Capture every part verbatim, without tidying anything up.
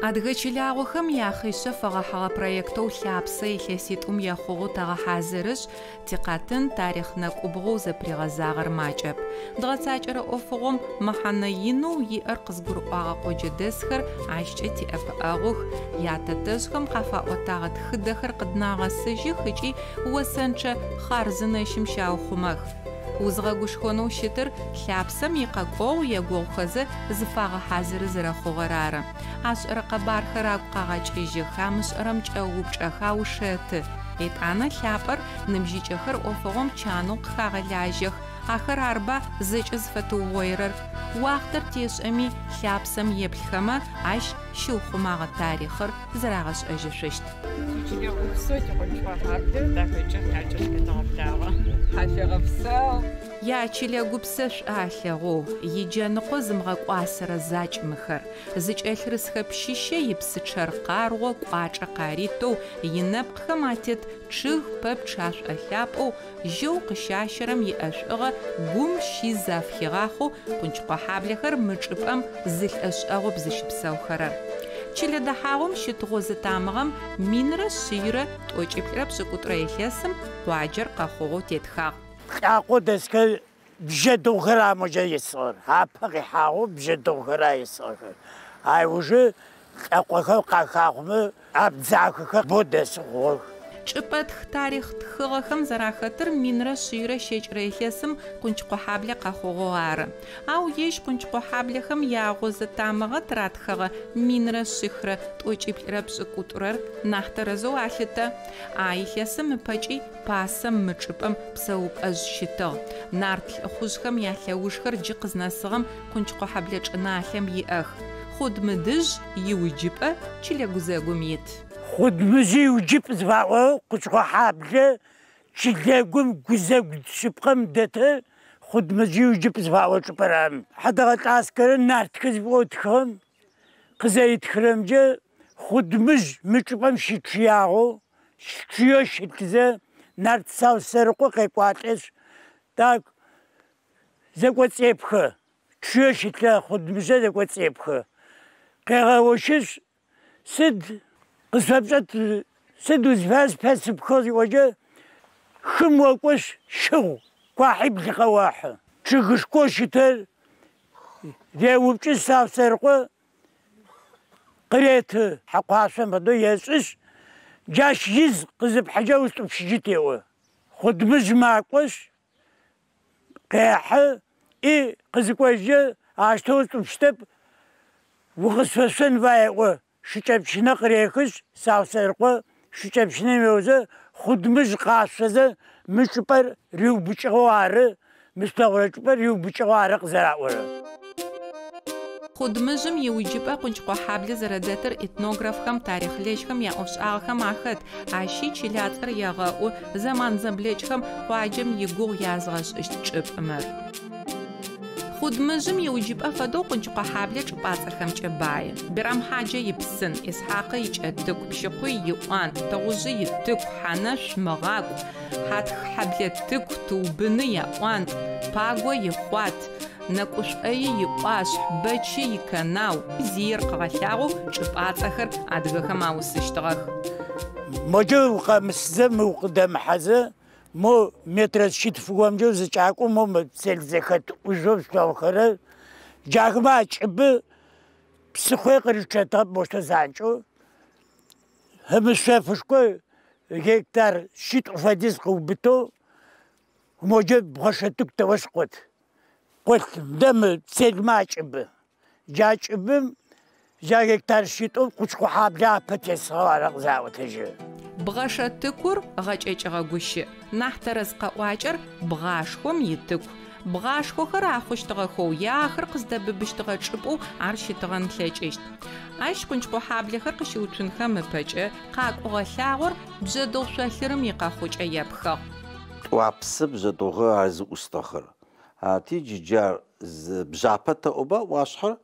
Адыгэ чылагъохэм яхъишъэ фэгъэхьыгъэ проектэу лъапсэ илъэситӏум ехъугъэу тэгъэхьазырышъ, тикъэтын тарихъ нэкӏубгъоу зэпригъэзагъэр макӏэп. Дгъэцакӏэрэ ӏофыгъом мэхьэнэ инэу иӏэр къызгурыӏуагъэ къоджэдэсхэр ащкӏэ тиӏэпыӏэгъух, ятэтэжъхэм къафаӏотагъэ тхыдэхэр къыднагъэсыжьых ыкӏи осэнчъэ хъарзынэщым щаухъумэх. Узгъэгушхонэу щытыр лъапсэм икъэкӏогъу егугъухэзэ зыфагъэхьазыры зэрэхъугъэр ары. Ашӏэрэ къэбархэр агу къагъэкӏыжьых, амышӏэрэм кӏэупчӏэх, аушэты. Етӏанэ лъапӏэр ныбжьыкӏэхэр ӏофыгъом чанэу къыхагъэлажьэх. Ахэр арба зэкӏэ зыфэтыугъоирэр. Уахътэр тешӏэми лъапсэм еплъхэмэ ащ щыухъумагъэ тарихъыр зэрагъэшӏэжьышъущт. Тичылэ гупсэу тикъончӏыгъэ дахэкӏэ хьакӏэщ къетэгъэблагъэ. Хьашъуегъэпсэу. Ячылэ гупсэ шӏу алъэгъоу, иджэныкъо зымыгъэкӏуасэрэ закӏ мыхэр. Зыкӏэлъырысхэ пщыщэ ипсычъэр къаргъо кӏуачӏэ къаритэу, инэпкъхэм атет чъыг пэпчъ ашӏолъапӏэу, жьэу къыщащэрэм иӏэшӏугъэ гум щиз афхигъахъоу Къунчыкъохьаблэхэр мы чӏыпӏэм зы лӏэшӏэгъоп зыщыпсэухэрэр. Чылэ дэхьагъом щыт гъозэ тамыгъэм минрэ шъийрэ тӏокӏиплӏырэ пшӏыкӏутӏурэ илъэсым къуаджэр къэхъугъэу тетхагъ. Лӏакъо дэсхэр бжьэдыгъухэр амоджэ исыгъэр. Апэ къихьагъэу бжьэдыгъухэр исыгъэхэр. Ай ужы лӏакъохэр къахахъумэ абдзахэхэр бо дэсы хъугъэх. Чӏыпӏэтх тарихъ тхыгъэхэм зэрахэтыр минрэ шъийрэ щэкӏырэ илъэсым Къунчыкъохьаблэ къэхъугъэу ары. Ау ежь Къунчыкъохьаблэхэм ягъозэ тамыгъэ тыратхэгъэ минрэ шъихрэ тӏокӏиплӏырэ пшӏыкӏутӏурэр нахь тэрэзэу алъытэ. А илъэсым ыпэкӏи пасэм мы чӏыпӏэм псэупӏэжъ щытыгъ. Нарт лӏыхъужъхэм ялъэужхэр джы къызнэсыгъэм Къунчыкъохьаблэ чӏыналъэм иӏэх. Хъудмыдыжъ иуджыпӏэ чылэ гузэгум ит. Хъудмыжъ иуджыпӏ зыфаӏоу Къунчыкъохьаблэ чылэгум гузэгу шъыпкъэм дэтыр Хъудмыжъ иуджыпӏ зыфаӏо чӏыпӏэр ары. Хьэдэгъэлӏэ Аскэрэ нартхэр зыфиӏоу тхыгъэм къызэритхырэмкӏэ Хъудмыжъ мы чӏыпӏэм щычъыягъэу, чъыеу щытызэ нарт Саусэрыкъо къекӏуалӏэшъ, так зэкӏоцӏепхэ. Чъыеу щытлъэ Хъудмыжъэ зэкӏоцӏепхэ. Къегъэощышъ, сыд къысфэпшӏэт, сыд узфаер спэсыпхыгъ зиӏокӏэ, хым окӏошъ щыгъу, куахьибл къэохьы. Чъыгышхоу щытыр реупкӏы Саусэрыкъо къыреты. Хьакъуашъом фэдэу ешӏышъ, джащ из къызыпхьыкӏэ устӏупщыжьы теӏо. Хъудмыжъ макӏошъ, къехьы, и къызыкӏожьы ащтэу устӏупщытэп, укъысфэшъон фае еӏо. Шыкӏэпщынэ къырехышъ, Саусэрыкъо шыкӏэпщынэм еузэ Хъудмыжъ къашъозэ мы чӏыпӏэр риубыкӏыгъэу ары, мы слъэгъурэ чӏыпӏэр риубыкӏыгъэу ары къызэраӏорэр. Хъудмыжъым иуджыпӏэ Къунчыкъохьаблэ зэрэдэтыр этнографхэм, тарихълэжьхэм яӏофшӏагъэхэм ахэт. Ащи чылацӏэр егъэӏу, зэман зэблэкӏхэм къуаджэм игугъу язгъэшӏыщт чӏыпӏ мыр. Хъудмыжъым иуджыпӏэ фэдэу Къунчыкъохьаблэ чӏыпӏацӏэхэмкӏэ бае. Бирамхьаджэ ипсын, Исхьакъы икӏэтыку, Пщыкъуй иӏуантӏ, Тыгъужъы итыку, Хьанэшъу мыгъакӏу, Хьатх-хьэблэ тыку, Тыубыны яӏуантӏ, Паго ихъуат, Нэкӏушӏои иӏуашъхь, Бэчы икэнау, зиер къыгъэлъагъоу чӏыпӏацӏэхэр адыгэхэм аусыщтыгъэх. Моджэ укъэмысызэ, мы укъыдэмыхьэзэ, мо метрэ шъитфыгомкӏэ узыкӏакӏоу мо пцел зэхэт ӏужъоу слъэгъухэрэр, джахэмэ акӏыбы псыхъуе къыричъэтыгъэп мощтэу занкӏэу. Ымышъофышхо гектар шъитӏу фэдиз къыубытэу моджэ бгъэшэтыку тэощ къот. Къолъ мыдэ мы пцелмэ акӏыбы. Джа кӏыбым джа гектар шъитӏум Къунчыкъохьаблэ апэ тесыгъэу ары къызаӏотэжьы. Бгъэшэтыкур гъэкӏэкӏыгъэ гущыӏ. Нахь тэрэз къэӏуакӏэр бгъашхом итыку. Бгъашхохэр ахъущтыгъэхэу е ахэр къыздэбыбыщтыгъэ чӏыпӏэу ар щытыгъэн лъэкӏыщт. Ащ Къунчыкъохьаблэхэр къыщыуцунхэм ыпэкӏэ къакӏугъэ лъагъор бжьэдыгъу шъолъырым икъэхъукӏэ епхыгъ. Тӏуапсы бжьэдыгъухэр ар зыӏустыгъэхэр. Ати джы джар бжьапэ тэӏоба ӏуашъхьэр,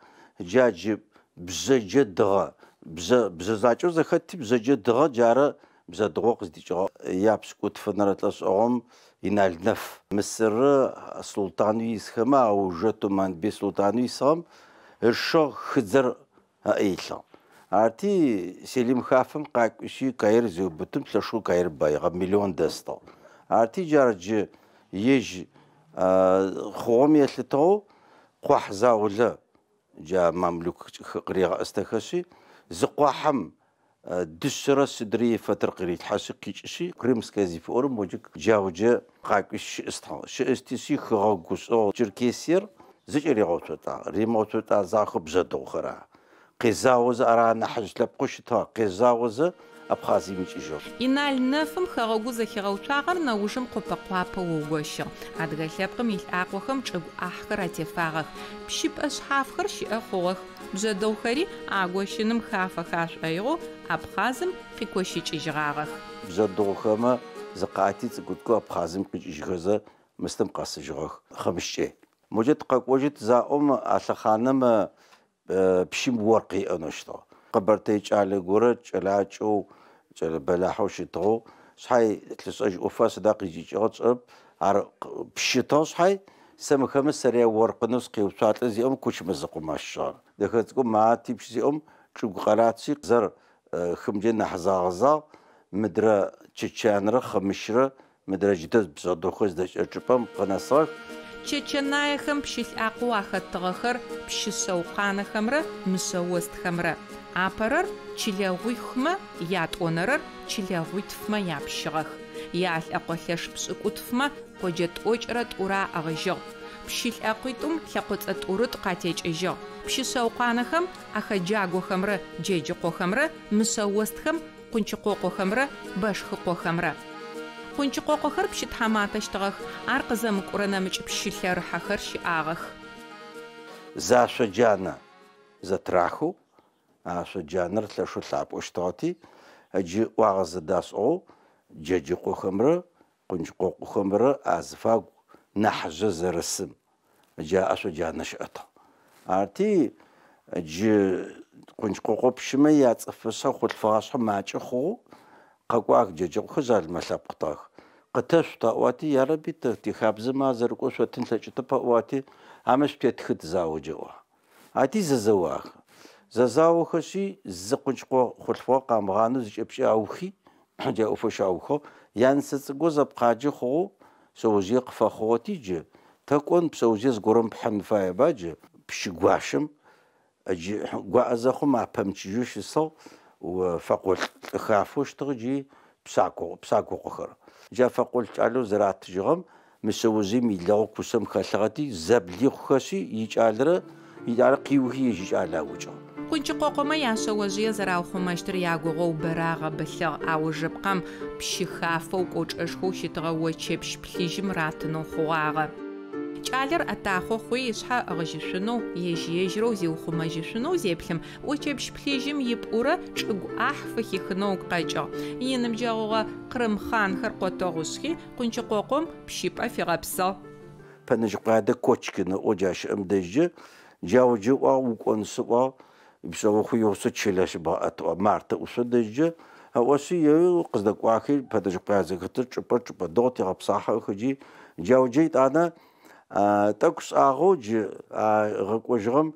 джа джы бжьэджэ дыгъэ, бжьэ бжьэ закӏэу зэхэтти бжьэджэ дыгъэ джары бжьэдыгъоу къыздикӏыгъэ. Япшӏыкӏутфэнэрэ лӏэшӏэгъум Инал Нэф Мысыры султану исхэмэ аужэ Туманбей султану исыгъэм ышыгъ хыдзэр ыӏэ илъыгъ. Арти Селим хафэм къакӏуи Каир зиубытым лъэшэу Каир баигъэ миллион дэстыгъ. Арти джар джы ежь хъугъэм елъытыгъэу къуахь заулэ джа мамлюк къырегъэӏыстэхэшъи зы къуахьэм дышъэрэ сыдрэ ифэтыр къырилъхьэшъи къикӏышъи Крымская зыфиӏорэм моджэ джауджэ къакӏуи щыӏыстыгъ. Щыӏыстишъи хыгъэгушӏыгъ Черкесиер зыкӏэ ригъэуцотӏагъ. Римыгъэуцотӏа захэу бжъэдыгъухэр ара. Къезаозэ ара нахьыжь лъэпкъэу щытыгъ. Къезаозэ Абхъазием икӏыжьыгъ. Инал нэфым хэгъэгу зэхигъэуцуагъэр нэужым къопэ-къуапэу ыгощыгъ. Адыгэ лъэпкъым илӏакъохэм чӏыгу ӏахьхэр атефагъэх. Пщыпӏэ шъхьафхэр щыӏэ хъугъэх. Бжъэдыгъухэри агощыным хафэхэ ашӏоигъоу Абхъазым къикощыкӏыжьыгъагъэх. Бжъэдыгъухэмэ зыкъати цӏыкӏу-цӏыкӏоу Абхъазым къикӏыжьхэзэ мыстым къэсыжьыгъэх. Хъымыщкӏэ. Моджэ тыкъэкӏожьыт заӏом а лъэхъаным пщым оркъ иӏэнэу щытыгъ. Къэбэртэй кӏалэ горэ кӏэлакӏэу, кӏэлэ бэлахьэу щытыгъэу, шъхьай лъышӏэжь ӏофа сыда къикӏыкӏыгъэ тшӏэрэп. Ар пщытыгъ шъхьай сэ мыхэмэ сэрые оркъынэу сыкъеуцуалӏэ зиӏэм Кучмэзыкъом ащыщыгъэр. Дэхэ цӏыкӏу мати пщы зиӏэм чӏыгу къаратси зэр хымджэ нахь загъэзагъ, мыдрэ Чэчанрэ Хъымыщрэ мыдрэ джыдэ бжъэдыгъухэр зыдэкӏэ чӏыпӏэм къынэсыгъэх. Чэчэнаехэм пщы лӏакъоу ахэтыгъэхэр пщы шъэукъанэхэмрэ мышъэостхэмрэ. Апэрэр чылэгъуихмэ, ятӏонэрэр чылэгъуитфмэ япщыгъэх. Ялӏэкъо лъэш пшӏыкӏутфмэ къоджэ тӏокӏрэ тӏурэ аӏыгъыжьыгъ. Пщы лӏакъуитӏум лъэкъоцӏэ тӏурытӏу къатекӏыжьыгъ. Пщы шъэукъанэхэм ахэджагохэмрэ джэджыкъохэмрэ мышъэостхэм къунчыкъокъохэмрэ бэшхыкъохэмрэ. Къунчыкъокъохэр пщы тхьаматэщтыгъэх, ар къызэмыкӏурэ нэмыкӏ пщы лъэрыхьэхэр щыӏагъэх. Зашъо джанэ зэтрахэу, ашъо джанэр лъэшэу лъапӏэщтыгъэти, джы ӏуагъэ зэдашӏыгъэу джэджыкъохэмрэ къунчыкъокъохэмрэ азыфагу нахьыжъэ зэрысым джа ашъо джанэ щыӏэтыгъ. Арти джы къунчыкъокъо пщымэ яцӏыфышъэ хъулъфыгъашъхьэ макӏэ хъугъэу къэкӏуах джэджыкъохэр жъалымэ лъэпкъытыгъэх. Къытэшъут аӏуати, ярэби тэ тихабзэмэ зэрыкӏо шъотын лъэкӏытэп аӏуати, амэ шъутетхыт зао джэӏуа. Ати зэзэуах. Зэзаохэшъи зы къунчыкъо хъулъфыгъэ къамыгъанэу зыкӏэпкӏэ аухи, джа ӏофэу щаухыгъ. Янысэ цӏыкӏоу зэпкъаджэ хъугъэу шъэожъые къыфэхъугъэти джы тэ кӏон пшъэожъые зыгорэм пхьын фаеба джы пщы гуащэм джы гуаӏэ зэхъум апэмычыжьэу щысыгъ фэкъолӏ лӏы хафэу щытыгъ джы псако псакокъохэр. Джа фэкъолӏ кӏалэу зэратыжьыгъэм мы шъэожъыем илэгъу кушъэм хэлъыгъэти зэблихъухэшъи икӏалэрэ икӏалэ къиухи ежь икӏалэ аукӏыгъ. Къунчыкъокъомэ яшъэожъые зэраухъумэщтыр ягугъоу бэрэ агъэбылъыгъ. Аужыпкъэм пщы хафэу кӏочӏэшхоу щытыгъэ очэпщ плъыжьым ратынэу хъугъагъэ. Кӏалэр ӏэтахъо хъуи ышъхьэ ыгъыжьышъунэу, ежь-ежьырэу зиухъумэжьышъунэу зеплъым, очэпщ плъыжьым ипӏурэ чӏыгу ӏахь фыхихынэу къэкӏыгъ. Иныбджэгъугъэ Къырым хъанхэр къотэгъушъхи, Къунчыкъокъом пщыпӏэ фигъэпсыгъ. Пэнэжьыкъуадэ Кочкин ыӏоу джа щыӏэм дэжьы, джауджы ыӏуагъ, укӏон сыӏуагъ, пшъэохъу игъусэу чылэ щыбгъэӏэтыгъ. Мартэ ӏушъо дэжьы, ыӏошъи еуи къыздэкӏуахи Пэнэжьыкъуае зэхэтыр чӏыпӏэ чӏыпӏэ дэгъу тегъэпсахьэх джи джауджы итӏанэ тӏэкӏу шӏагъэу джы гъэкӏожьыгъэм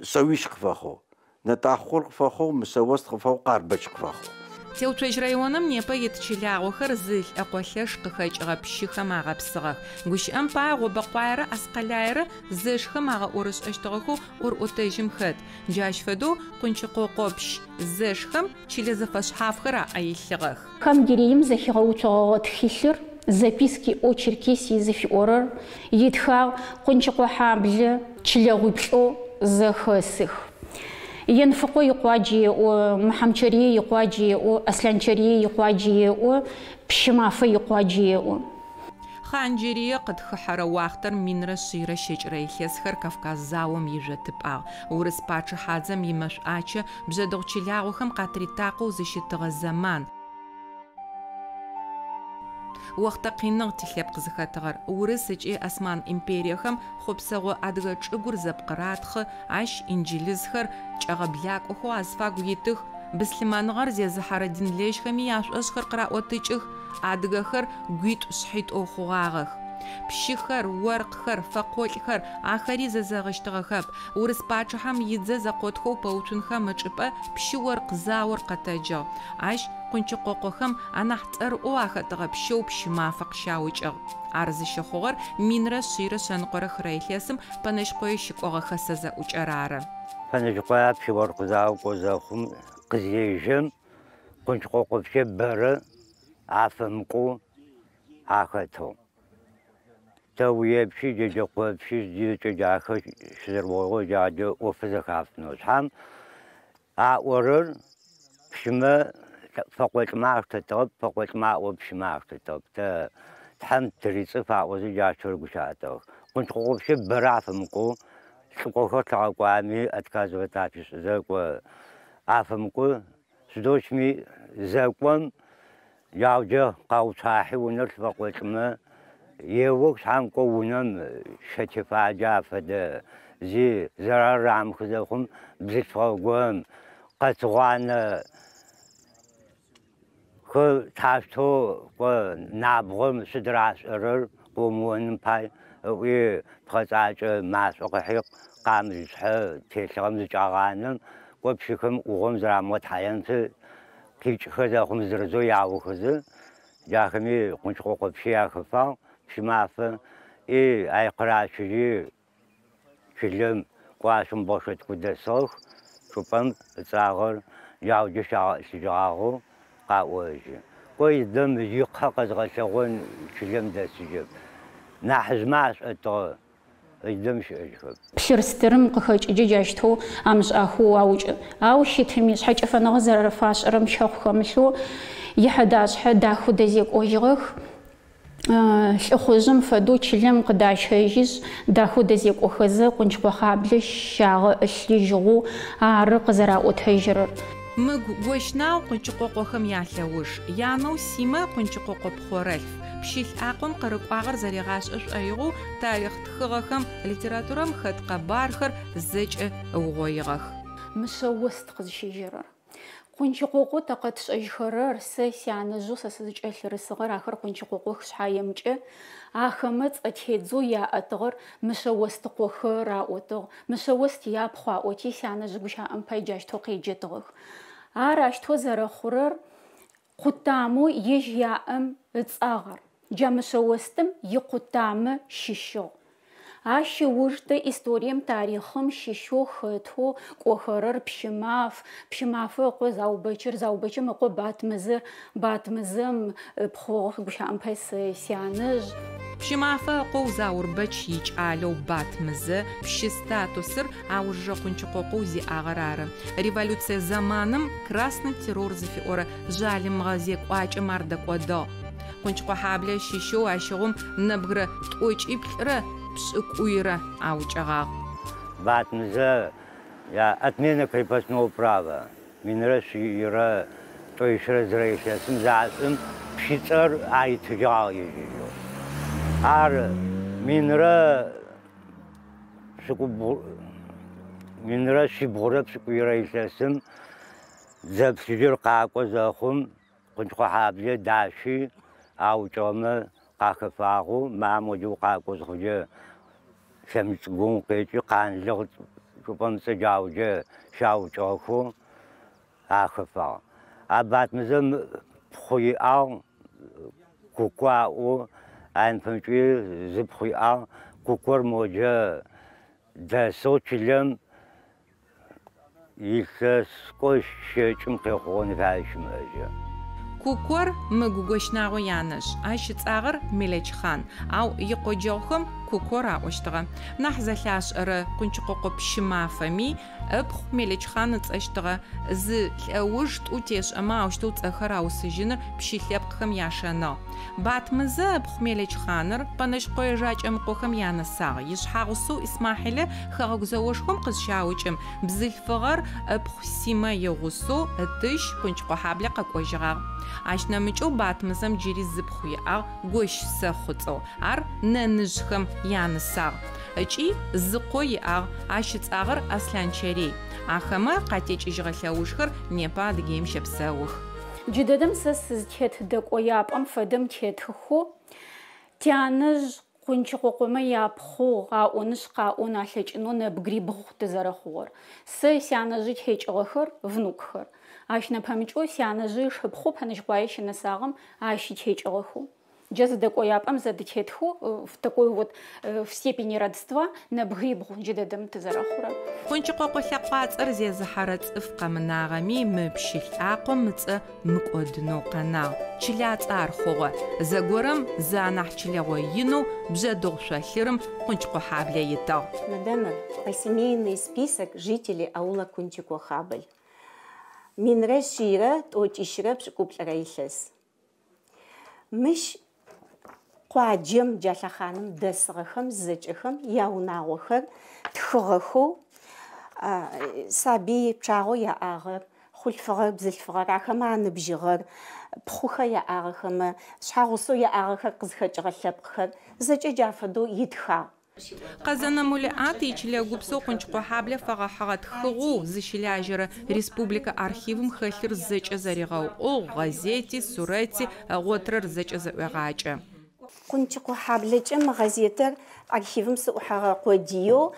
шъэуищ къыфэхъугъ. Нэтӏахъор къыфэхъугъ, мышъэост къыфэхъугъ, Къарбэч къыфэхъугъ. Теуцожь районым непэ ит чылагъохэр зы лӏэкъо лъэш къыхэкӏыгъэ пщыхэм агъэпсыгъэх. Гущыӏэм пае Гъобэкъуаерэ Аскъэлаерэ зэшхэм агъэӏорышӏэщтыгъэхэу ӏорӏотэжьым хэт. Джащ фэдэу Къунчыкъокъопщ зэшхэм чылэ зэфэшъхьафхэр аӏэ илъыгъэх. Хангирием зэхигъэуцогъэгъэ тхылъыр Записки о Черкесии зыфиӏорэр итхагъ Къунчыкъохьаблэ чылэгъуиплӏэу зэхэсых. Енфыкъо икъуаджэ еӏо, Мыхьамчэрые икъуаджэ еӏо, Аслъанчэрые икъуаджэ еӏо, Пщымафэ икъуаджэ еӏо. Хъанджэрые къытхыхьэрэ уахътэр минрэ шъийрэ щэкӏырэ илъэсхэр Кавказ заом ижъотыпӏагъ. Урыс пачъыхьадзэм имэшӏуачэ бжъэдыгъу чылагъохэм къатритакъоу зыщытыгъэ зэман. Охътэ къиныгъ тилъэпкъ зыхэтыгъэр. Урыс ыкӏи Осман империехэм хъопсэгъо адыгэ чӏыгур зэпкъыратхъы, ащ инджылызхэр кӏэгъэблакӏохэу азыфагу итых, быслъымэныгъэр зезыхьэрэ динлэжьхэми яшӏошӏхэр къыраӏотыкӏых, адыгэхэр гуитӏу шъхьитӏоу хъугъагъэх. Пщыхэр, оркъхэр, фэкъолӏхэр ахэри зэзэгъыщтыгъэхэп. Урыс пачъыхьэм идзэ зэкъотхэу пэуцунхэм ычӏыпӏэ пщы-оркъ заор къэтэджыгъ. Ащ Къунчыкъокъохэм анахь цӏэрыӏоу ахэтыгъэ пщэу Пщымафэ къыщаукӏыгъ. Ар зыщыхъугъэр минрэ шъийрэ шъэныкъорэ хырэ илъэсым Пэнэжьыкъое щыкӏогъэ хэсэ зэӏукӏэр ары. Пэнэжьыкъое пщы-оркъ зао кӏо зэхъум къызежьэм Къунчыкъокъо пщы бэрэ афэмыкӏоу ахэтыгъ. Тэуепщи, Джэджэкъопщи, зэкӏэ ахэр щызэрыугъоигъэу джаджэ ӏофы зэхафынэу. Шъхьам аӏорэр пщымэ фэкъолӏмэ аштэтыгъэп, фэкъолӏмэ аӏо пщымэ аштэтыгъэп. Тэ Тхьэм тырицӏыф аӏозэ джащтэр гущыӏэтыгъэх. Къунчыкъокъо пщы бэрэ афэмыкӏоу лӏыкӏохэр лъагъэкӏуами отказывать афишӏызэ кӏо афэмыкӏоу сыдощми зэкӏом яуджэ къауцуахьи унэр лъфэкъолӏмэ еох шъхьам кӏо унэм щэтефаджэ афэдэ зи зэрар рамыхы зэхъум бзылъфыгъэ къэтыгъуанэ хы таштэу кӏо набгъом сыдырашӏэрэр къыумыоным пай ыӏуи пхъэцӏакӏэ машӏо къыхьи къамылшъхьэ телъыгъэм зыкӏагъанэм кӏо пщыхэм ӏугъом зэрамыгъэтхьаенты къикӏхэ зэхъум зырызэу яохэзэ джахэми Къунчыкъокъо пщы яхэфагъ Пщымафэ и ай къыращыжьи чылэм кӏуашъом бгъэшэтку дэсыгъэх чӏыпӏэм ыцӏагъэр яуджэ щагъэӏылъыжьыгъагъэу къаӏожьы. Кӏо идэм икъэ къэзгъэлъэгъон чылэм дэсыжьэп. Нахьыжъмэ ашӏэтыгъэ идэм щыӏэжьхэп. Плъырстырым къыхэкӏыджэ джащтэу амышӏахэу аукӏы. Ау щытми шъхьэкӏэфэныгъэ зэрэфашӏэрэм щэхъу хэмылъэу ихьэдашъхьэ дахэу дэзекӏожьыгъэх. Лӏыхъужъым фэдэу чылэм къыдащэжьышъ дахэу дэзекӏохэзэ Къунчыкъохьаблэ щагъэӏылъыжьыгъэу ары къызэраӏотэжьырэр. Мыгу Гощнау Къунчыкъокъохэм ялъэуж. Янэу Симэ Къунчыкъокъо пхъорэлъф. Пщы лӏакъом къырыкӏуагъэр зэригъашӏэ шӏоигъоу тарихъ тхыгъэхэм литературэм хэт къэбархэр зэкӏэ ыугъоигъэх. Мышъэ ост къызщежьэрэр. Къунчыкъокъо тэ къэтшӏэжьхэрэр сэ сянэжъэу сэ сызыкӏэлъырысыгъэр ахэр Къунчыкъокъох шъхьаемкӏэ ахэмэ цӏэ тедзэу яӏэтыгъэр мышъэ остыкъохэр аӏотыгъ. Мышъэ ост япхъу аӏоти сянэжъ гущыӏэм пай джащтэу къеджэтыгъэх. Ар ащтэу зэрэхъурэр къутамэу ежь яӏэм ыцӏагъэр. Джа мышъэ остым икъутамэ щыщыгъ. Ащ ыуж тэ историем тарихъым щыщэу хэтэу кӏохэрэр Пщымаф, Пщымафэ ыкъо Заубэчыр, Заубэчым ыкъо Батмызыр, Батмызым ыпхъугъ гущыӏэм пай сэ сянэжъ. Пщымафэ ыкъоу Заурбэч икӏалэу Батмызэ пщы статусыр аужрэ Къунчыкъокъоу зиӏагъэр ары. Революцие зэманым красный террор зыфиӏорэ жъалымыгъэ зекӏуакӏэм ар дэкӏодыгъ. Къунчыкъохьаблэ щыщэу ащыгъум нэбгырэ тӏокӏиплӏырэ пшӏыкӏуйрэ аукӏыгъагъ. Батмызэ я отмена крепостного права минрэ шъийрэ тӏоищрэ зырэ илъэсым зашӏым пщыцӏэр аритыжьыгъагъ ежьыжьэу. Ар минрэ пшӏыкӏубгъу минрэ шъибгъурэ пшӏыкӏуйрэ илъэсым дзэ плъыжьыр къакӏо зэхъум Къунчыкъохьаблэ дащи аукӏыгъэмэ къахэфагъэу мамоджэу къакӏо зыхъукӏэ лъэмыкӏгум къекӏи къанлыгъ чӏыпӏэм цӏэ джауджэ щаукӏыгъэхэу ахэфагъ. А Батмызэм пхъу иӏагъ Куко аӏоу аймыпэмкӏи зы пхъу иӏагъ. Кукор моджэ дэсэу чылэм илъэс кӏо щэкӏым къехъугъэн фае щымыӏэжьы. Кукор Мыгу Гощнагъо янэжъ. Ащ ыцӏагъэр Мелэчхъан, ау икъоджэгъухэм Кукор аӏощтыгъэ. Нахь зэлъашӏэрэ Къунчыкъокъо Пщымафэми ыпхъу Мелэчхъан ыцӏэщтыгъэ. Зы лӏэуж тӏу тешӏэмэ аущтэу цӏэхэр аусыжьыныр пщы лъэпкъхэм яшэныгъ. Батмызэ ыпхъу Мелэчхъаныр Пэнэжьыкъое Жакӏэмыкъохэм янысагъ. Ишъхьагъусэу Исмахьилэ хэгъэгу зэошхом къызщаукӏым бзылъфыгъэр ыпхъу Симэ игъусэу ытыщ Къунчыкъохьаблэ къэкӏожьыгъагъ. Ащ нэмыкӏэу Батмызэм джыри зыпхъу иӏагъ Гощ Сэхъуцӏэу. Ар нэныжъхэм янысагъ. Ыкӏи зы къо иӏагъ, ащ ыцӏагъэр Аслъанчэрей. Ахэмэ къатекӏыжьыгъэ лъэужхэр непэ Адыгеим щэпсэух. Джыдэдэм сэ сызтет дэкӏояпӏэм фэдэм тетыхэу тянэжъ Къунчыкъокъомэ япхъугъ, аӏонышъ къаӏон алъэкӏынэу нэбгырибгъу тызэрэхъугъэр. Сэ сянэжъы текӏыгъэхэр внукхэр. Ащ нэпэмыкӏэу сянэжъы ышыпхъу Пэнэжьыкъуае щынэсагъэм ащи текӏыгъэхэу. Джа зэдэкӏояпӏэм зэдытетхэу в такой вот в степени родства нэбгырибгъу джыдэдэм тызэрэхъурэр. Къунчыкъокъо лъэкъуацӏэр зезыхьэрэ цӏыф къэмынагъэми мы пщы лӏакъом ыцӏэ мыкӏодынэу къэнагъ. Чылацӏэ ар хъугъэ. Зэгорэм зы анахь чылэгъо инэу Бжъэдыгъу шъолъырым Къунчыкъохьаблэ итыгъ. Мадамыр, посемейный список жителей аула Кунчикохабль. Минрэ шъийрэ тӏокӏищрэ пшӏыкӏуплӏырэ илъэс. Мыщ къуаджэм джа лъэхъаным дэсыгъэхэм зэкӏэхэм яунагъохэр тхыгъэхэу сабый пчъагъэу яӏагъэр, хъулъфыгъэр, бзылъфыгъэр, ахэмэ аныбжьыгъэр, пхъухэр яӏагъэхэмэ, шъхьагъусэу яӏагъэхэр къызхэкӏыгъэ лъэпкъхэр зэкӏэ джа фэдэу итхагъ. Къэзэнэ Мулиӏат ичылэ гупсэу Къунчыкъохьаблэ фэгъэхьыгъэ тхыгъэу зыщылажьэрэ республикэ архивым хэлъыр зэкӏэ зэригъэуӏугъ, гъэзети, сурэти, ыгъотырэр зэкӏэ зэӏуегъакӏэ. Къунчыкъохьаблэкӏэ мы гъэзетыр архивым сыӏухьэгъэ къодыеу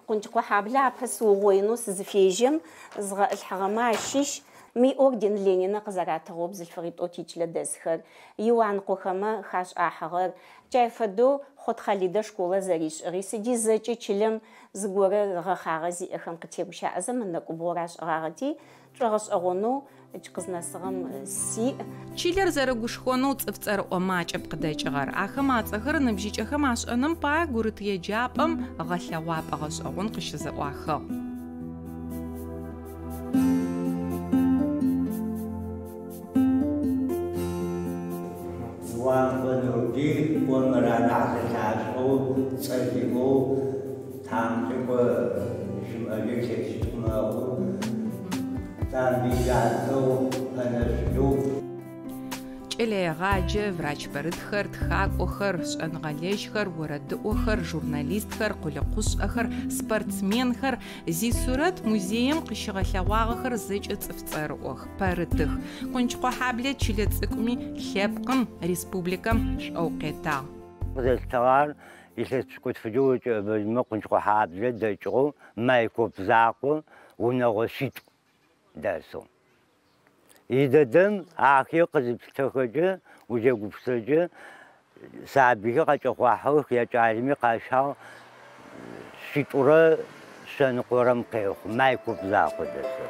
Къунчыкъохьаблэ апэ сыугъоинэу сызыфежьэм згъэӏылъхьэгъэмэ ащыщ мы орден Ленина къызэратыгъэу бзылъфыгъитӏоу тичылэ дэсхэр, Иуанкъохэмэ хашӏахьыгъэр, джай фэдэу Хъот Хъалидэ школэ зэришӏыгъи, сыди зэкӏэ чылэм зыгорэ гъэхъагъэ зиӏэхэм къытегущыӏэзэ мы нэкӏубгъор ашӏыгъагъэти, шӏогъэшӏэгъонэу къызнэсыгъэм сиӏ. Чылэр зэрэгушхонэу цӏыф цӏэрыӏо макӏэп къыдэкӏыгъэр. Ахэм ацӏэхэр ныбжьыкӏэхэм ашӏэным пае гурыт еджапӏэм гъэлъэгъуапӏэ гъэшӏэгъон къыщызэӏуахыгъ. Иуанкъо Нурбый ӏомыр анахь зэлъашӏэу цӏэ зиӏэу тамыкӏэкӏо щымыӏэжьэу илъэситӏу мэхъу. Тамбый ятэу Пэнэшъулэу. Кӏэлэегъаджэ, врач пэрытхэр, тхакӏохэр, шӏэныгъэлэжьхэр, орэдыӏохэр, журналистхэр, къулыкъушӏэхэр, спортсменхэр зисурэт музеем къыщыгъэлъэгъуагъэхэр зэкӏэ цӏыф цӏэрыӏох, пэрытых. Къунчыкъохьаблэ чылэ цӏыкӏуми лъэпкъым, республикэм шӏоу къетагъ. Къызэлъытыгъэр илъэс пшӏыкӏутфыкӏэ укӏэбэжьмэ Къунчыкъохьаблэ дэкӏыгъэу Майкоп закъо унэгъо шъитӏу дэсэу. Идэдэм ахэр къызыплъытэхэкӏэ, узегупсэкӏэ сабыйхэр къакӏэхъуахьых, якӏалэми къащагъ шъитӏурэ шъэныкъорэм къехъу, Майкоп закъо дэсэу.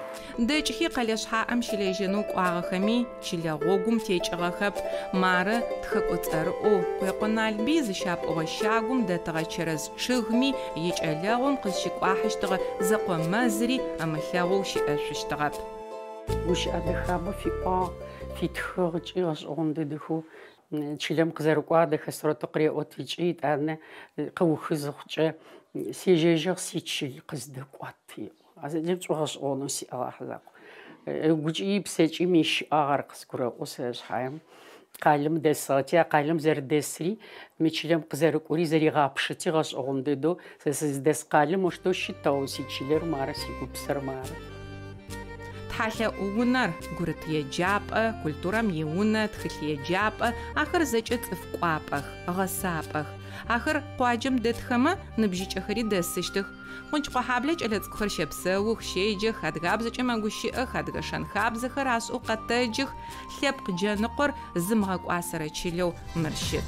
Дэкӏхи къэлэ шъхьаӏэм щылэжьэнэу кӏуагъэхэми чылэ гъогум текӏыгъэхэп. Мары тхэкӏо цӏэрыӏоу Къуекъо Налбый зыщапӏыгъэ щагум дэтыгъэ чэрэз чъыгми икӏэлэгъум къызщыкӏуахьыщтыгъэ зэкъо мэзри ымылъэгъоу щыӏэшъущтыгъэп. Гущыӏэ дэхабэ фиӏуагъ, фитхыгъ ыкӏи гъэшӏэгъон дэдэхэу чылэм къызэрыкӏуадэхэ сурэтэу къыреӏот ыкӏи итӏанэ къыухы зыхъукӏэ сежьэжьыгъ сичыл къыздэкӏуат еӏо. А зэкӏэ шӏогъэшӏэгъонэу сиӏэгъахь закъо. Ыгукӏи псэкӏи мыщыӏагъ ар къызгурэӏо сэ шъхьаем. Къалэм дэсыгъэти, а къалэм зэрэдэсри, мы чылэм къызэрыкӏори зэригъапшэти гъэшӏэгъон дэдэу сэ сыздэс къалэм оштэу щытыгъэу сичылэр мары, сигупсэр мары. Тхьалъэӏу унэр, гурыт еджапӏэ, культурэм иунэ, тхылъ еджапӏэ, ахэр зэкӏэ цӏыф кӏуапӏэх, гъэсапӏэх. Ахэр къуаджэм дэтхэмэ ныбжьыкӏэхэри дэсыщтых. Къунчыкъохьаблэ кӏэлэцӏыкӏухэр щэпсэух, щеджэх, адыгабзэкӏэ мэгущыӏэх, адыгэ шэн-хабзэхэр ашӏэу къэтэджых, лъэпкъ джэныкъор зымыгъэкӏуасэрэ чылэу мыр щыт.